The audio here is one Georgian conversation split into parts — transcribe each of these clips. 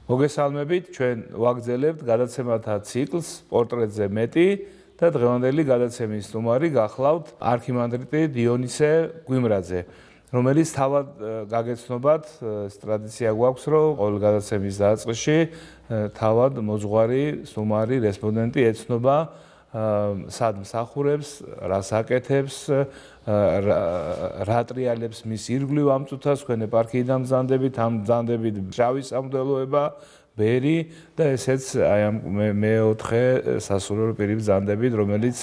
მოგესალმებით, ჩვენ ვაგრძელებთ გადაცემათა ციკლს პორტრეტზე მეტი და დღევანდელი გადაცემის სტუმარი გახლავთ არქიმანდრიტი დიონისე გვიმრაძე, რომელიც თავად გაგეცნობათ, ტრადიცია გვაქვს, რომ ყოველ გადაცემის დაწყისში თავად მოძღვარი, სტუმარი, რესპონდენტი ეცნობა სად მსახურებს, რას აკეთებს, რა ტრიალებს მის ირგვლივ ამ წუთას, თქვენ ეპარქიიდან მზანდებით, ამ მზანდებით შავი სამღვდელოება, ბერი და ესეც აი ამ მეოთხე სასულიერო პირი მზანდებით, რომელიც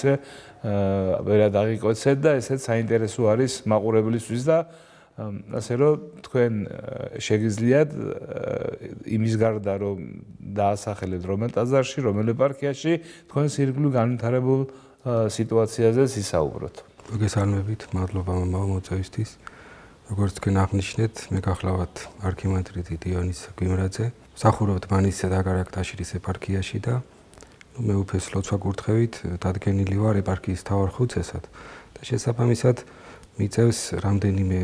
ვერად აღიკვეცეთ და ესეც საინტერესო არის მაყურებლისთვის და ასე რომ თქვენ შეგიძლიათ იმის გარდა რომ დაასახელებთ რომელ ტაძარში, რომელ ეპარქიაში თქვენს ირგვლივ განვითარებულ სიტუაციაზე ისაუბროთ. მოგესალმებით, მადლობა მოწვევისთვის. როგორც თქვენ აღნიშნეთ, მე გახლავთ არქიმანდრიტი დიონისე გვიმრაძე. მსახურობთ მანისზე და გარაკტაშირის ეპარქიაში და მეუფეს ლოცვა-კურთხევით დადგენილი ვარ ეპარქიის მთავარ ხუცესად და შესაბამისად მიწევს რამდენიმე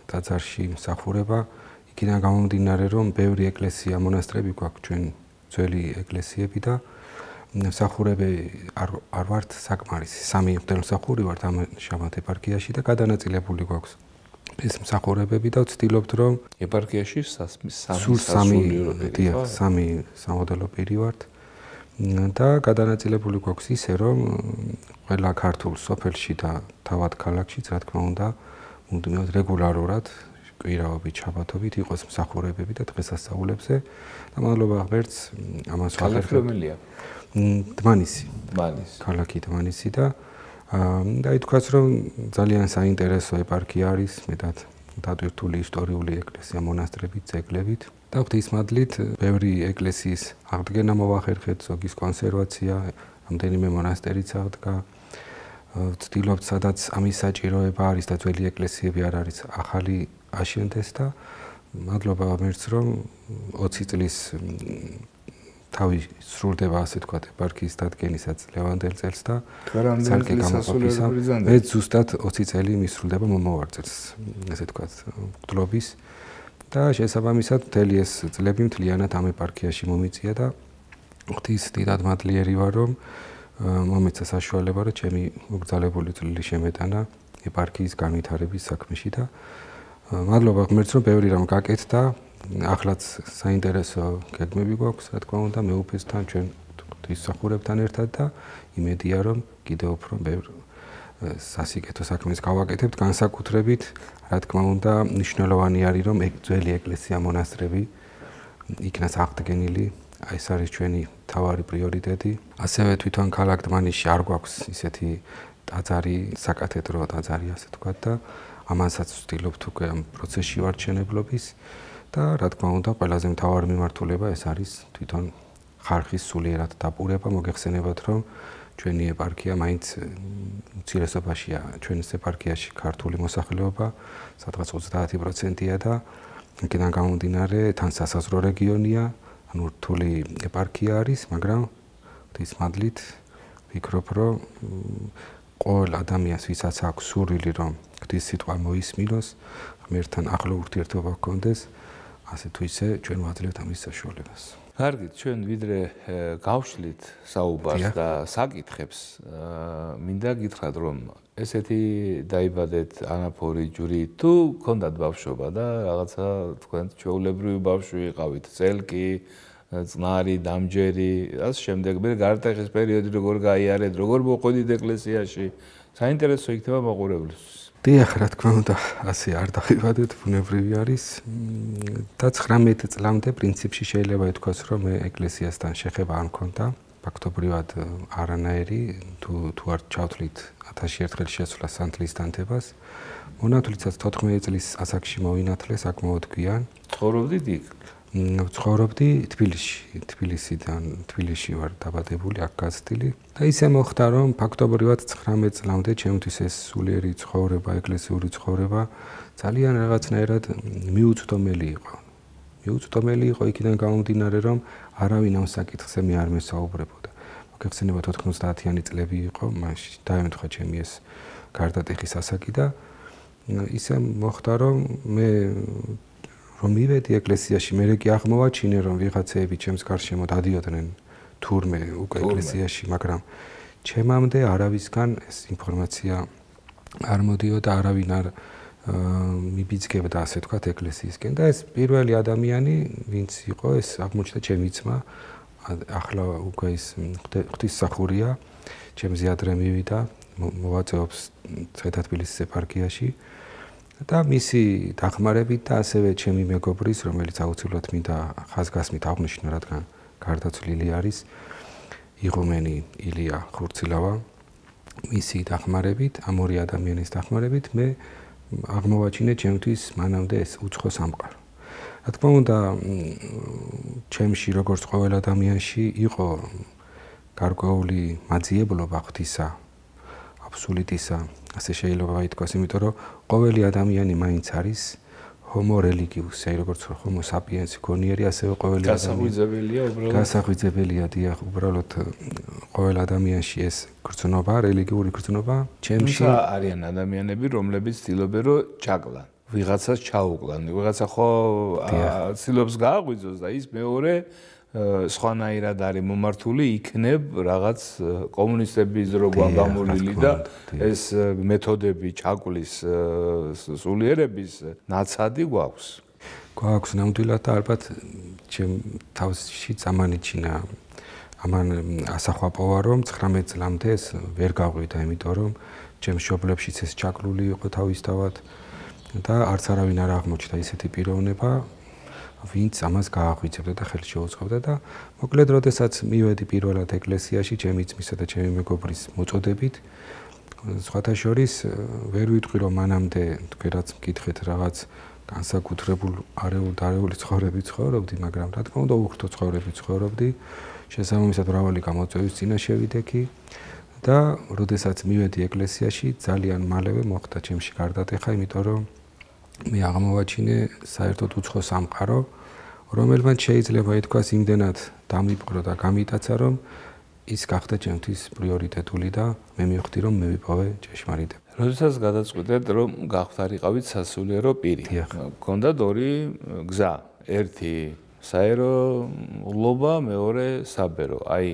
ტაძარში მსახურება. იქიდან გამომდინარე, რომ ბევრი ეკლესია, მონასტრები გვაქვს ჩვენ ძველი ეკლესიები და მსახურები არ ვართ საკმარისი. 3 მღვდელმსახური ვართ ამჟამად ეპარქიაში და გადანაწილებული გვაქვს ეს მსახურებები და ვცდილობთ, რომ ეპარქიაში 3 სამღვდელო პირი ვართ და გადანაწილებული გვაქვს ისე, რომ ყველა ქართულ სოფელში და თავად ქალაქშიც, რა თქმა უნდა, მუდმივად რეგულარულად კვირაობით, შაბათობით იყოს მსახურებები და დღესასწაულებზე და მადლობა ღმერთს ამას ვახერხებია. დმანისი. ქალაქი დმანისი და ითქვას, რომ ძალიან საინტერესო ეპარქია არის, მეტად დატვირთული ისტორიული ეკლესია, მონასტრებით, ძეგლებით და ღვთისმადლით ბევრი ეკლესიის აღდგენა მოვახერხეთ, ზოგის კონსერვაცია, რამდენიმე მონასტერიც აღდგა. ვცდილობთ, სადაც ამის საჭიროება არის და ძველი ეკლესიები არ არის, ახალი აშენდეს და მადლობა ღმერთს, რომ 20 წლის თავი სრულდება, ასე თქვა, ეპარქიის დადგენისაც ლევანდელ წელს და ცალკე გამოყოფისა. მე ზუსტად 20 წელი მისრულდება მომავალ წელს, ასე თქვა, მღვდლობის და შესაბამისად მთელი ეს წლები მთლიანად ამ ეპარქიაში მომიწია და ღვთის დიდად მადლიერი ვარ, რომ მომეცა საშუალება, რომ ჩემი მოგზაურებული წვლილი შემეტანა ეპარქიის განვითარების საქმეში და მადლობა ღმერთს, რომ ბევრი რამ გაკეთდა. ახლაც საინტერესო გეგმები გვაქვს, რა თქმა უნდა, მეუფესთან, ჩვენ ღვთისმსახურებთან ერთად და იმედია, რომ კიდევ უფრო ბევრ სასიკეთო საქმეს გავაკეთებთ, განსაკუთრებით, რა თქმა უნდა, მნიშვნელოვანი არის, რომ ძველი ეკლესია, მონასტრები იქნას აღდგენილი. ეს არის ჩვენი მთავარი პრიორიტეტი. ასევე თვითონ ქალაქ დმანისში არ გვაქვს ისეთი ტაძარი, საკათედრო ტაძარი, ასე თქვა და ამასაც ვცდილობთ უკვე ამ პროცესში ვარ შენებლობის და რა თქმა უნდა, ყველაზე მთავარი მიმართულება ეს არის თვითონ ხარხის სულიერად დაპურება. მოგეხსენებათ, რომ ჩვენი ეპარქია მაინც უმცირესობაშია, ჩვენს ეპარქიაში ქართული მოსახლეობა სადღაც 30%-ია და იქიდან გამომდინარე თან სასაზღვრო რეგიონია, ანუ რთული ეპარქია არის, მაგრამ ღვთის მადლით ვფიქრობ, რომ ყოველ ადამიანს, ვისაც აქვს სურვილი, რომ ღვთის სიტყვა მოისმინოს, ღმერთთან ახლო ურთიერთობა ჰქონდეს, ასე თუ ისე ჩვენ ვაძლევთ ამის საშუალებას. კარგით, ჩვენ ვიდრე გავშლით საუბარს და საკითხებს, მინდა გითხრათ, რომ ესეთი დაიბადეთ ანაფორი ჯვრით თუ გქონდათ ბავშვობა და რაღაცა თქვენ ჩვეულებრივი ბავშვი იყავით, წელკი, წყნარი, დამჯერი, ასე შემდეგ. მე გარტეხის პერიოდი როგორ გაიარეთ, როგორ მოყვედით ეკლესიაში, საინტერესო იქნება მაყურებლისთვის. დიახ, რა თქმა უნდა, ასე არ დაიბადეთ, ბუნებრივი არის და 19 წლამდე პრინციპში შეიძლება ითქვას, რომ მე ეკლესიასთან შეხება არ მქონდა. ფაქტობრივად არანაირი, თუ არ ჩავთვლით 1000 ერთხელ შესვლა სანთლის დანთებას. მონათვლიცაც 14 წლის ასაკში მოვინათლე საკმაოდ გვიან. ცხოვრობდით იქ? ცხოვრობდი თბილისში ვარ დაბადებული, აქ გაზრდილი და ისე მოხდა, რომ ფაქტობრივად 19 წლამდე ჩემთვის ეს სულიერი ცხოვრება, ეკლესიური ცხოვრება ძალიან რაღაცნაირად მიუწვდომელი იყო. მიუწვდომელი იყო იქიდან გამომდინარე, რომ არავინ ამ საკითხზე მე არ მესაუბრებოდა. მოგეხსენებათ 90-იანი წლები იყო, მაშინ დაემთხვა ჩემი ეს გარდატეხის ასაკი და ისე მოხდა, რომ მე რომ მივედი ეკლესიაში, მე კი აღმოვაჩინე, რომ ვიღაცეები ჩემს გარშემო დადიოდნენ თურმე უკვე ეკლესიაში, მაგრამ ჩემამდე არავისგან ეს ინფორმაცია არ მოდიოდა, არავინ არ მიბიძგებდა, ასე ვთქვათ, ეკლესიისკენ და ეს პირველი ადამიანი, ვინც იყო, ეს აღმოჩნდა ჩემი ძმა, ახლა უკვე ის ღვთისმსახურია, ჩემზე ადრე მივიდა, მოვაწეობს ცხედათბილისის ეპარქიაში და მისი დახმარებით და ასევე ჩემი მეგობრის, რომელიც აუცილებლად მინდა ხაზგასმით აღნიშნო, რადგან გარდაცვლილი არის, იღუმენი ილია ხურცილავა, მისი დახმარებით, ამ ორი ადამიანის დახმარებით მე აღმოვაჩინე ჩემთვის მანამდე ეს უცხო სამყარო. რა თქმა უნდა, ჩემში როგორც ყოველ ადამიანში იყო გარკვეული მაძიებლობა ღვთისა, აბსოლუტისა, ასე შეიძლება ითქვას, იმიტომ რომ ყოველი ადამიანი მაინც არის homo religius, როგორც homo sapiens გონიერი, ასევე ყოველი ადამიანი გასაღვიძებელია, დიახ, უბრალოდ ყოველ ადამიანში ეს გრძნობა, რელიგიური გრძნობა, ჩემში არიან ადამიანები, რომლებიც ცდილობენ რომ ჩაკლან, ვიღაცას ჩაუკლან, ვიღაცა ხო ცდილობს გააღვიძოს და ის მეორე სხვანაირად არის მომართული, იქნებ რაღაც კომუნისტების როგორ გამოლილი და ეს მეთოდები ჩაკლის სულიერების ნაცადი გვაქვს. გვაქვს ნამდვილად და ალბათ ჩემ თავში წამანიჩინა ამან ასახვაპოვა, რომ 19 წლამდე ეს ვერ გაღვივდა, იმიტომ რომ ჩემ მშობლებშიც ეს ჩაკლული იყო თავისთავად და არც არავინ არ აღმოჩნდა ისეთი პიროვნება, ვინც ამას გააღვიძებდა და ხელს შეუწყობდა და მოკლედ როდესაც მივედი პირველად ეკლესიაში ჩემი ძმისა და ჩემი მეგობრის მოწოდებით, სხვათა შორის ვერ ვიტყვი რომ მანამდე თქვენ რაც მკითხეთ რაღაც განსაკუთრებულ არეული ცხოვრებით ცხოვრობდი, მაგრამ რა თქმა უნდა უხერთო ცხოვრებით ცხოვრობდი, შესაბამისად მრავალი გამოწვევის წინაშე ვიდექი და როდესაც მივედი ეკლესიაში ძალიან მალევე მოხდა ჩემში გარდატეხა, იმიტომ რომ მე აღმოვაჩინე საერთოდ უცხო სამყარო, რომელმაც შეიძლება ითქვას იმდენად დამიპყრო და გამიტაცა, რომ ის გახდა ჩემთვის პრიორიტეტული და მე მივხვდი, რომ მე ვიპოვე ჭეშმარიტება. როდესაც გადაწყვეტეთ, რომ გახვდარიყავით სასულიერო პირი, გქონდათ ორი გზა, ერთი საეროლობა, მეორე საბერო. აი,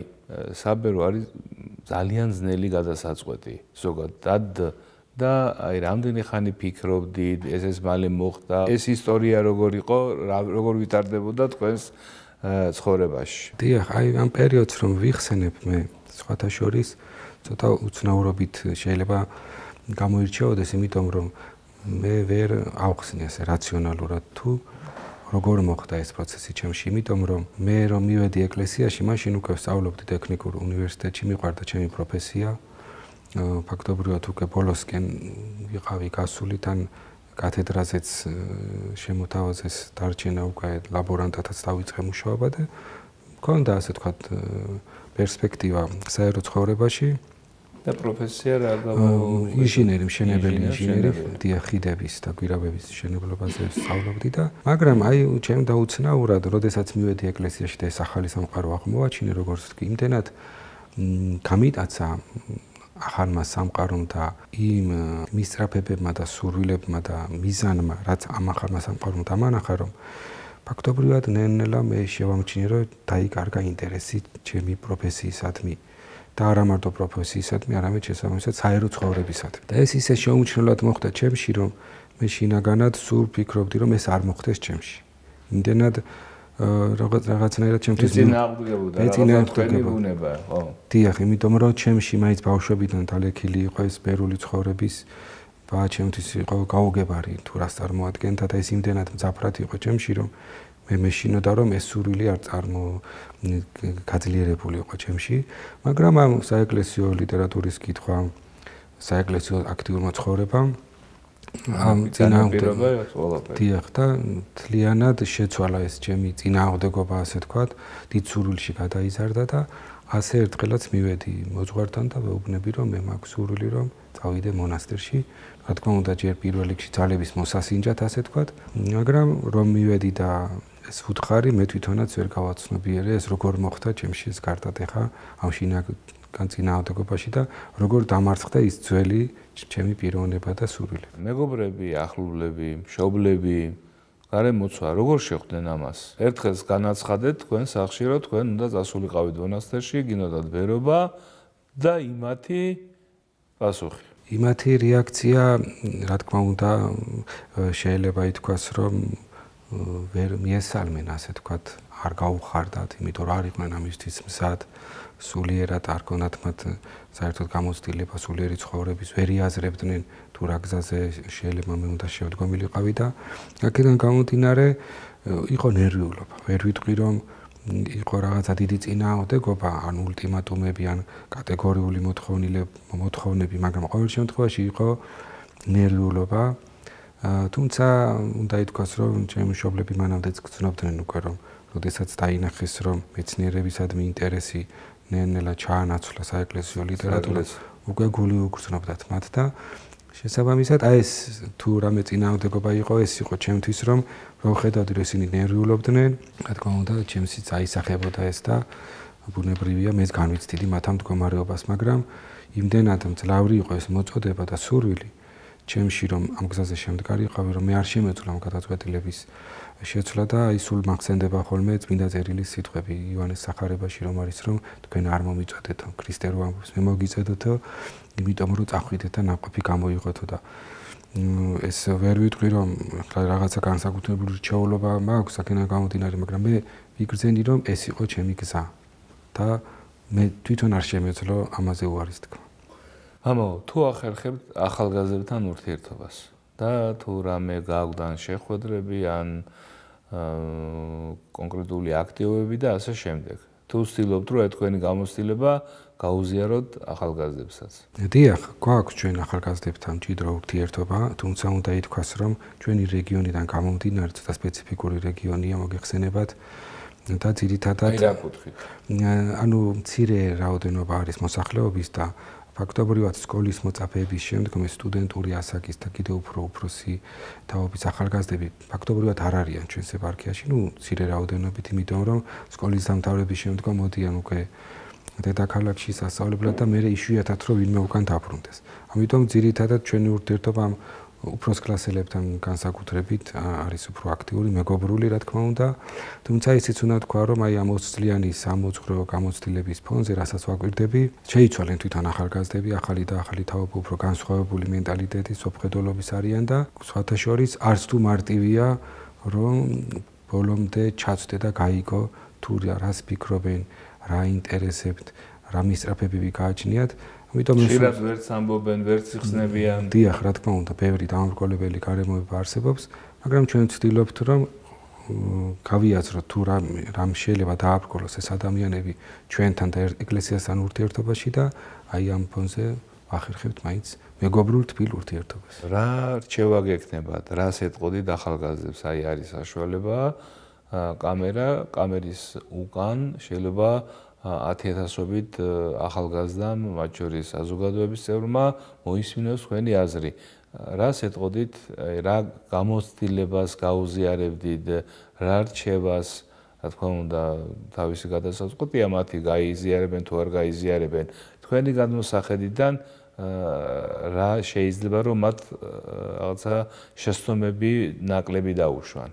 საბერო არის ძალიან ძნელი გადასაწყვეტი ზოგადად და აი რამდენი ხანი ფიქრობდით, ეს მალე მოხდა, ეს ისტორია როგორ იყო, როგორ ვითარდებოდა თქვენს ცხოვრებაში. დიახ, აი ამ პერიოდს რომ ვიხსენებ მე, სხვათა შორის ცოტა უცნაურობით შეიძლება გამოირჩეოდეს, იმიტომ რომ მე ვერ ავხსნი ასე რაციონალურად თუ როგორ მოხდა ეს პროცესი ჩემში, იმიტომ რომ მე რომ მივედი ეკლესიაში, მაშინ უკვე ვსწავლობდი ტექნიკურ უნივერსიტეტში, მიყვარდა ჩემი პროფესია. ფაქტობრივად უკვე ბოლოსკენ ვიყავი გასული, თან კათედრაზეც შემოთავაზეს დარჩენა უკვე ლაბორანტათაც დავიწყე მუშაობა და მქონდა ასე ვთქვათ პერსპექტივა საერო ცხოვრებაში და პროფესია რა ინჟინერი, მშენებელი ინჟინერი, ხიდების და გვირაბების მშენებლობაზე სწავლობდი და მაგრამ აი ჩემ დაუცნაურად, როდესაც მივედი ეკლესიაში და ეს ახალი სამყარო აღმოვაჩინე, როგორც ვთქვი, იმდენად გამიტაცა ახალმა სამყარომ და იმ მისწრაფებებმა და სურვილებმა და მიზანმა, რაც ამ ახალმა სამყარომ დამანახა, რომ ფაქტობრივად ნელ-ნელა მე შევამჩნიე, რომ დაიკარგა ინტერესი ჩემი პროფესიისადმი და არა მარტო პროფესიისადმი, არამედ შესაბამისად საერო ცხოვრებისადმი. და ეს ისე შეუმჩნევლად მოხდა ჩემში, რომ მე შინაგანად სულ ფიქრობდი, რომ ეს არ მოხდეს ჩემში. იმდენად რაღაცნაირად ჩემთვის წინააღმდეგებოდა, თქვენი ბუნება, ხო. დიახ, იმიტომ რომ ჩემში მაინც ბავშვობიდან დალექილი იყო ეს ბერული ცხოვრების და ჩემთვის იყო გაუგებარი თუ რას წარმოადგენდა და ეს იმდენად მძაფრად იყო ჩემში, რომ მე მეშინოდა რომ ეს სურვილი არ გაძლიერებული იყო ჩემში, მაგრამ ამ საეკლესიო ლიტერატურის კითხვა, საეკლესიო აქტიურმა ცხოვრებამ ამ დიახ და თლიანად შეცვალა ეს ჩემი წინააღმდეგობა, ასე ვთქვათ, დიდ სურვილში გადაიზარდა და ასე ერთხელაც მივედი მოძღვართან და ვეუბნები, რომ მე მაქვს სურვილი, რომ წავიდე მონასტერში. რა თქმა უნდა, ჯერ პირველ რიგში ძალების მოსასინჯად, ასე ვთქვათ, მაგრამ რომ მივედი და ეს უთხარი მე თვითონაც ვერ გავაცნობიერე, ეს როგორ მოხდა ჩემში ეს გარდატეხა ამ შინაგან წინააღმდეგობაში და როგორ დამარცხდა ის ძველი ჩემი პიროვნება და სურვილი. მეგობრები, ახლობლები, მშობლები, გარემოცვა, როგორ შეხვდნენ ამას? ერთხელს განაცხადეთ თქვენ სახში, რომ თქვენ უნდა წასულიყავით მონასტერში, გინდათ ბერობა და იმათი პასუხი. იმათი რეაქცია, რა თქმა უნდა, შეიძლება ითქვას, რომ ვერ მიესალმენ, ასე თქვათ, არ გაუხარდათ, იმიტომ რომ არ იყვნენ ამისთვის მზად, სულიერად არ ქონათ მათ საერთოდ გამოცდილება სულიერი ცხოვრების, ვერ იაზრებდნენ თუ რა გზაზე შეიძლება მე უნდა შევდგომილიყავი და აქედან გამომდინარე იყო ნერვიულობა. ვერ ვიტყვი რომ იყო რაღაცა დიდი წინააღმდეგობა, ან ულტიმატუმები, ან კატეგორიული მოთხოვნები, მაგრამ ყოველ შემთხვევაში იყო ნერვიულობა. თუმცა უნდა ითქვას, რომ ჩემი მშობლები მანამდეც გრძნობდნენ უკვე, რომ როდესაც დაინახეს, რომ მეცნიერებისადმი ინტერესი ნელ-ნელა ჩაანაცვლა საეკლესიო ლიტერატურას, უკვე გული უგრძნობდათ მათ და შესაბამისად აი ეს თუ რამე წინააღმდეგობა იყო, ეს იყო ჩემთვის, რომ ვხედავდი, რომ ისინი ნერვიულობდნენ, რა თქმა უნდა, ჩემსიც აისახებოდა ეს და ბუნებრივია, მეც განვიცდიდი მათ ამ მდგომარეობას, მაგრამ იმდენად მძლავრი იყო ეს მოწოდება და სურვილი ჩემში, რომ ამ გზაზე შემდგარიყავი, რომ მე არ შემეძლო ამ გადაწყვეტილების შეცვლა და აი სულ მახსენდება ხოლმე წმინდა წერილის სიტყვები იოანეს სახარებაში, რომ არის, რომ თქვენ არ მომიწოდეთო, ქრისტე რო ამბობს, მე მოგიწოდეთო, იმიტომ რომ წახვიდეთ და ნაყოფი გამოიღოთო და ეს ვერ ვიტყვი, რომ რაღაცა განსაკუთრებული რჩეულობა მაქვს აქედან გამომდინარე, მაგრამ მე ვიგრძენი, რომ ეს იყო ჩემი გზა და მე თვითონ არ შემეძლო ამაზე უარის თქვა. მამაო, თუ ახერხებთ ახალგაზრდებთან ურთიერთობას და თუ რამე გაგვდან შეხვედრები ან კონკრეტული აქტივობები და ასე შემდეგ. თუ ვცდილობთ, რომ თქვენი გამოცდილება გაუზიაროთ ახალგაზრდებსაც. დიახ, გვაქვს ჩვენ ახალგაზრდებთან მჭიდრო ურთიერთობა, თუმცა უნდა ითქვას, რომ ჩვენი რეგიონიდან გამომდინარე ცოტა სპეციფიკური რეგიონია მოგეხსენებათ და ძირითადად რა კუთხით? ანუ მცირე რაოდენობა არის მოსახლეობის და ფაქტობრივად სკოლის მოწაფეების შემდგომ სტუდენტური ასაკის და კიდევ უფრო უფროსი თაობის ახალგაზრდები ფაქტობრივად არ არიან ჩვენს ეპარქიაში, მცირე რაოდენობით, იმიტომ რომ სკოლის დამთავრების შემდგომ მოდიან უკვე დედაქალაქში სასწავლებლად და მერე იშვიათად რომ ვინმე უკან დაბრუნდეს. ამიტომ ძირითადად ჩვენი ურთიერთობა უფროს კლასელებთან განსაკუთრებით არის უფრო აქტიური, მეგობრული, რა თქმა უნდა. თუმცა ისიც უნდა თქვა, რომ აი ამ 20 წლიანი სამოძღვრო გამოცდილების ფონზე, რასაც ვაკვირდები, შეიცვალენ თვითონ ახალგაზრდები, ახალი და ახალი თაობა, უფრო განსხვავებული მენტალიტეტის, სოფხედულობის არიან და სხვათა შორის არც თუ მარტივია, რომ ბოლომდე ჩაცდე და გაიგო თუ რას ფიქრობენ, რა ინტერესებთ, რა მისწრაფებები გააჩნიათ. ამიტომ ხშირად ვერც ამბობენ, ვერც იხსნებიან. დიახ, რა თქმა უნდა, ბევრი დამამრგვალებელი გარემოება არსებობს, მაგრამ ჩვენ ვცდილობთ, რომ გავიაზროთ თუ რამ შეიძლება დააბრკოლოს ეს ადამიანები ჩვენთან და ეკლესიასთან ურთიერთობაში და აი ამ ფონზე ვახერხებთ მაინც მეგობრულ თბილ ურთიერთობას. რა რჩევა გექნებათ, რას ეტყოდით ახალგაზრდებს? აი არის საშუალება კამერის უკან შეიძლება 10,000-ობით ახალგაზრდამ, მათ შორის საზოგადოების წევრმა მოისმინოს თქვენი აზრი. რას ეტყოდით, რა გამოცდილებას გაუზიარებდით, რა რჩევას, რა თქმა უნდა, თავისი გადასაწყვეტია მათი გაიზიარებენ თუ არ გაიზიარებენ. თქვენი გადმოსახედიდან რა შეიძლება რომ მათ რაღაცა შეცდომები ნაკლები დაუშვან.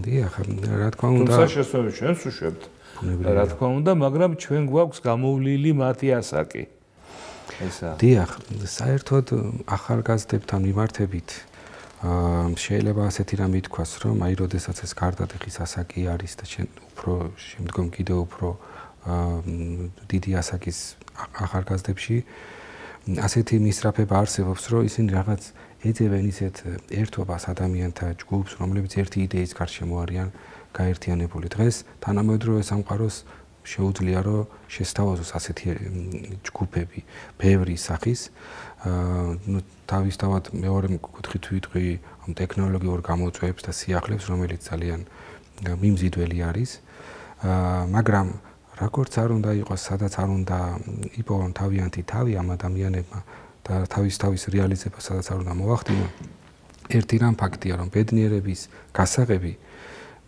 დიახ, რა თქმა უნდა. თუმცა შეცდომები ჩვენს უშვებთ. რა თქმა უნდა, მაგრამ ჩვენ გვაქვს გამოვლილი მათი ასაკი. ესა. დიახ, საერთოდ ახალგაზრდებთან მიმართებით შეიძლება ასეთი რამე ითქვას, რომ აი როდესაც ეს გარდატეხის ასაკი არის და უფრო შემდგომ კიდევ უფრო დიდი ასაკის ახალგაზრდებში ასეთი მისწრაფება არსებობს, რომ ისინი რაღაც ეძებენ ისეთ ერთობას ადამიანთა ჯგუფს, რომლებიც ერთი იდეის გარშემო არიან გაერთიანებული. დღეს თანამედროვე სამყაროს შეუძლია რომ შესთავაზოს ასეთი ჯგუფები ბევრი სახის. თავისთავად მეორე კუთხით ვიტყვი ამ ტექნოლოგიურ გამოწვევებს და სიახლეებს, რომელიც ძალიან მიმზიდველი არის. მაგრამ როგორც არ უნდა იყოს, სადაც არ უნდა იპოვონ თავიანთი თავი ამ ადამიანებმა და თავის რეალიზება სადაც არ უნდა მოახდინონ. ერთი რამ ფაქტია, რომ ბედნიერების გასაღები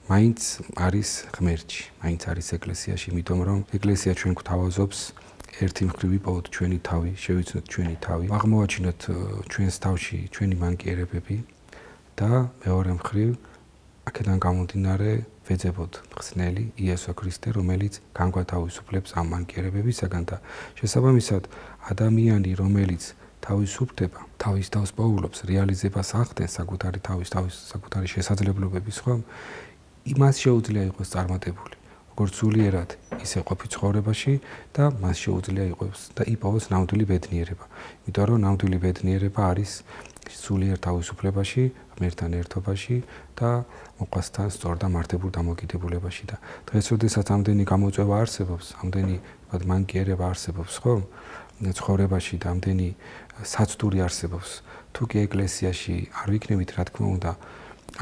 მაინც არის ღმერთში, მაინც არის ეკლესიაში, იმიტომ რომ ეკლესია ჩვენ გვთავაზობს ერთი მხრივ ვიპოვოთ ჩვენი თავი, შევიცნოთ ჩვენი თავი, აღმოვაჩინოთ ჩვენს თავში ჩვენი მანკიერებები და მეორე მხრივ აქედან გამომდინარე ვეძებოთ ხსნელი იესო ქრისტე, რომელიც განგვათავისუფლებს ამ მანკიერებებისაგან და შესაბამისად ადამიანი, რომელიც თავისუფლდება, თავის თავს პოულობს, რეალიზებას ახდენს საკუთარი შესაძლებლობების ხომ, იმას შეუძლია იყოს წარმატებული, როგორც სულიერად, ისე ყოფი ცხოვრებაში და მას შეუძლია იყოს და იპოვოს ნამდვილი ბედნიერება. იმიტომ რომ ნამდვილი ბედნიერება არის სულიერ თავისუფლებაში, ღმერთთან ერთობაში და მოყვასთან სწორ და მართებულ დამოკიდებულებაში და დღეს როდესაც ამდენი გამოწვევა არსებობს, ამდენი მანკიერება არსებობს, ხო? ცხოვრებაში და ამდენი საცდური არსებობს. თუ კი ეკლესიაში არ ვიქნებით, რა თქმა უნდა,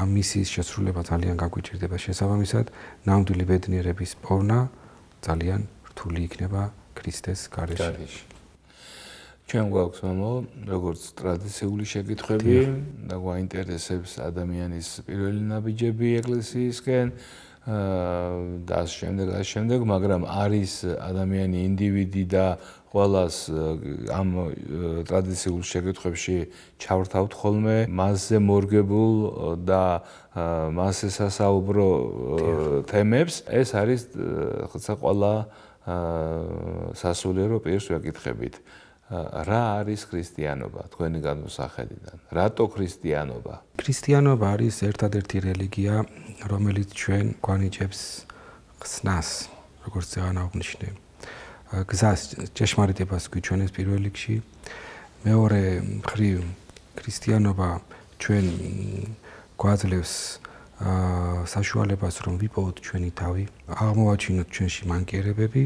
ამ მისიის შესრულება ძალიან გაგვიჭირდება. შესაბამისად, ნამდვილი ბედნიერების პოვნა ძალიან რთული იქნება ქრისტეს გარეშე. ჩვენ გვაქვს მამო, როგორც ტრადიციული შეკითხვები და გვაინტერესებს ადამიანის პირველი ნაბიჯები ეკლესიისკენ და ამ შემდეგ, მაგრამ არის ადამიანი ინდივიდი და ყველას ამ ტრადიციულ შეკითხვებში ჩავრთავთ ხოლმე მასზე მორგებულ და მასზე სასაუბრო თემებს. ეს არის ხოცა ყველა სასულიერო პირს ვეკითხებით. რა არის ქრისტიანობა თქვენი განმოსახედიდან? რატო ქრისტიანობა? ქრისტიანობა არის ერთადერთი რელიგია, რომელიც ჩვენ გვანიჭებს ხსნას, როგორც წეგან აღნიშნე. გზას ჭეშმარიტებას გვიჩვენებს პირველ რიგში. მეორე მხრივ ქრისტიანობა ჩვენ გვაძლევს საშუალებას, რომ ვიპოვოთ ჩვენი თავი, აღმოვაჩინოთ ჩვენში მანკიერებები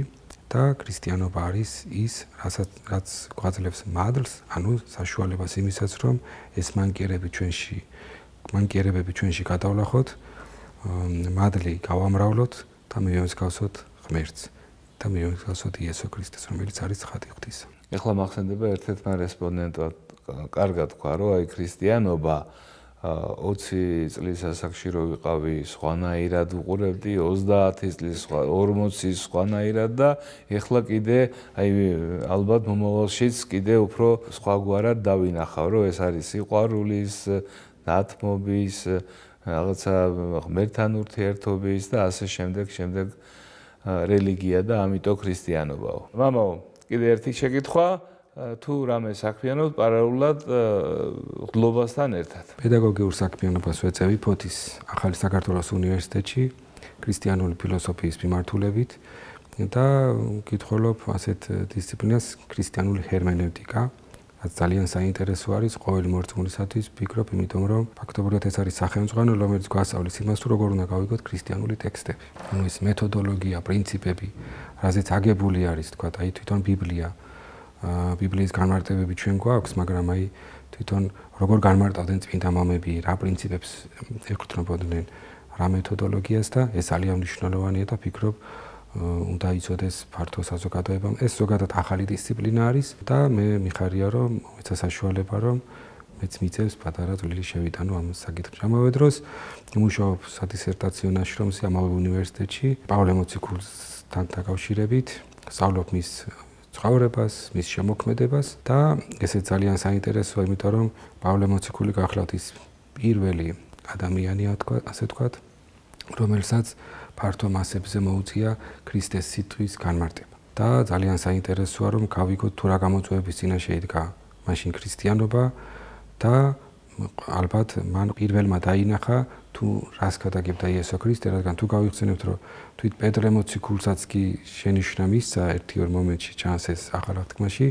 და ქრისტიანობა არის ის, რაც გვაძლევს მადლს, ანუ საშუალებას იმისაც, რომ ეს მანკიერებები ჩვენში გადავლახოთ, მადლი გავამრავლოთ და მივემსგავსოთ ღმერთს და მივემსგავსოთ იესო ქრისტეს, რომელიც არის ცხადი ღვთისა. ეხლა მახსენდება ერთ-ერთმა რესპონდენტმა კარგად თქვა, რომ აი ქრისტიანობა 20 წლის ასაკში რო ვიყავი, სხვანაირად ვუყურებდი, 30 წლის 40-ის სხვანაირად და ეხლა კიდე აი ალბათ მომავალშიც კიდე უფრო სხვაგვარად დავინახავ, რომ ეს არის სიყვარულის, დათმობის, რაღაცა ღმერთთან ურთიერთობის და ასე შემდეგ რელიგია და ამიტომ ქრისტიანობაო. მამაო, კიდე ერთი შეკითხვა, თუ რამე საქმიანობთ პარალელურად ღლობასთან ერთად. პედაგოგიურ საქმიანობას ვეწევი ფოთის ახალი საქართველოს უნივერსიტეტში ქრისტიანული ფილოსოფიის მიმართულებით და ვკითხულობ ასეთ დისციპლინას ქრისტიანული ჰერმენევტიკა, რაც ძალიან საინტერესო არის ყოველი მორწმუნისათვის, ვფიქრობ, იმიტომ რომ ფაქტობრივად ეს არის სახელმძღვანელო, რომელიც გვასწავლის იმას, თუ როგორ უნდა გავიგოთ ქრისტიანული ტექსტები. ანუ ეს მეთოდოლოგია, პრინციპები, რაზეც აგებული არის, თქვა, აი თვითონ ბიბლია. ბიბლიის განმარტებები ჩვენ გვაქვს, მაგრამ აი თვითონ როგორ განმარტავდნენ წმინდა მამები, რა პრინციპებს ეკუთვნებოდნენ, რა მეთოდოლოგიას და ეს ძალიან მნიშვნელოვანია და ფიქრობ, უნდა იცოდეს ფართო საზოგადოებამ. ეს ზოგადად ახალი დისციპლინა არის და მე მიხარია, რომ მეცა საშუალება, რომ მეც მიწევს პატარა წვლილი შევიტანო ამ საკითხში. ამავე დროს მუშაობ სადისერტაციო ნაშრომზე ამავე უნივერსიტეტში, პავლე მოციქულთან დაკავშირებით, სწავლობ მის ცხოვრებას, მის შემოქმედებას და ესე ძალიან საინტერესოა, იმიტომ რომ პავლე მოციქული გახლავთ ის პირველი ადამიანია, ასე ვთქვათ, რომელსაც ფართო მასებზე მოუწია ქრისტეს სიტყვის განმარტება. და ძალიან საინტერესოა, რომ გავიგოთ თუ რა გამოწვევების წინაშე იდგა მაშინ ქრისტიანობა და ალბათ მან პირველმა დაინახა თუ რას გადაგებდა იესო ქრისტე, რადგან თუ გავიხსენებთ, რომ თვით პედრე მოციქულსაც კი შენიშვნა მისცა ერთი-ორ მომენტში ჩანს ეს ახალ აღთქმაში,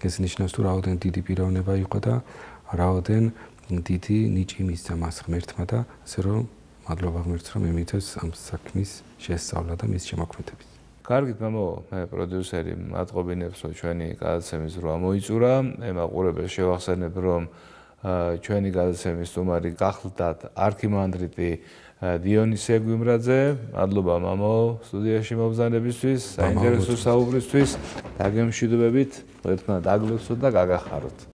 ეს ნიშნავს თუ რაოდენ დიდი პიროვნება იყო და რაოდენ დიდი ნიჭი მისცა მას ღმერთმა და ასე რომ მადლობა ღმერთს, რომ მემიწევს ამ საქმის შესწავლა და მის შემოქმედების. კარგით, მამო, მე პროდიუსერი მადყობინებს, რომ ჩვენი გადაცემის რვა მოიწურა. მე მაყურებელს შევახსენებ, რომ ჩვენი გადაცემის სტუმარი გახლდათ არქიმანდრიტი დიონისე გვიმრაძე. მადლობა მამო სტუდიაში მობრძანებისთვის, საინტერესო საუბრისთვის. დაგემშვიდობებით, ერთმანეთ აგლოცოთ და გაგახაროთ.